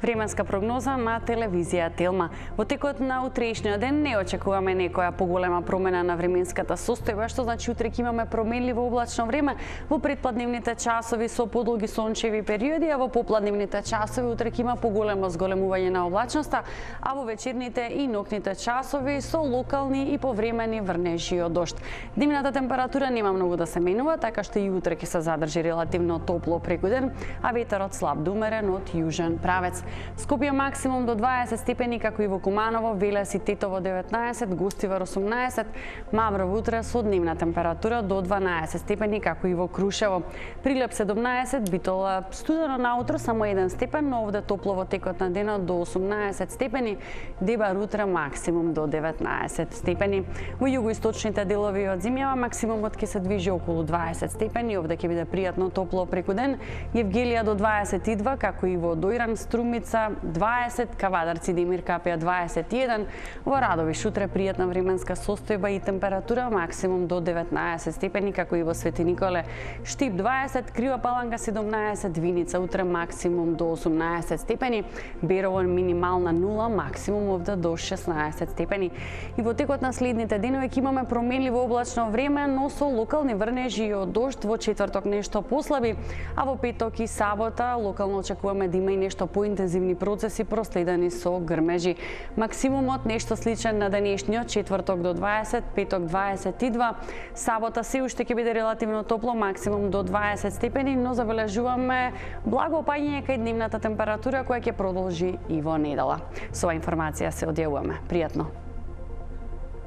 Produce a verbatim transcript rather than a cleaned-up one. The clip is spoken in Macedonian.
Временска прогноза на телевизија Телма. Во текот на утрешниот ден не очекуваме некоја поголема промена на временската состојба, што значи утре ќе имаме променливо облачно време во предпладневните часови со подолги сончеви периоди, а во попладневните часови утре ќе има поголемо зголемување на облачноста, а во вечерните и ноќните часови со локални и повремени врнежи од дожд. Дневната температура нема многу да се менува, така што и утре ќе се задржи релативно топло преку ден, а ветерот слаб до умерен од јужен правец. Скопје максимум до дваесет степени, како и во Куманово, Велес и Тетово деветнаесет, Гостивар осумнаесет, Маврово утре со дневна температура до дванаесет степени, како и во Крушево. Прилеп седумнаесет, Битола студено наутро, само еден степен, но овде топло во текот на денот до осумнаесет степени, Дебар утре максимум до деветнаесет степени. Во југоисточните делови од земјава максимумот ќе се движи околу дваесет степени, овде ќе биде пријатно топло преку ден, Евгелија до дваесет и два, како и во Дојран, Струми дваесет, Кавадарци, Демир Капија дваесет и еден, во Радовиш утре пријатна временска состојба и температура максимум до деветнаесет степени, како и во Свети Николе, Штип дваесет, Крива Паланка седумнаесет, Виница утре максимум до осумнаесет степени, Берово минимална нула, максимум овде до шеснаесет степени. И во текот на следните денови ќе имаме променливо облачно време, но со локални врнежи и од дожд, во четврток нешто послаби, а во петок и сабота локално очекуваме да има и нешто поинтензивни процеси проследени со грмежи. Максимумот нешто сличен на денешниот, четврток до дваесет, петок дваесет и два, сабота се уште ќе биде релативно топло, максимум до дваесет степени, но забележуваме благо опаѓање кај дневната температура која ќе продолжи и во недела. Со оваа информација се одјавуваме. Пријатно!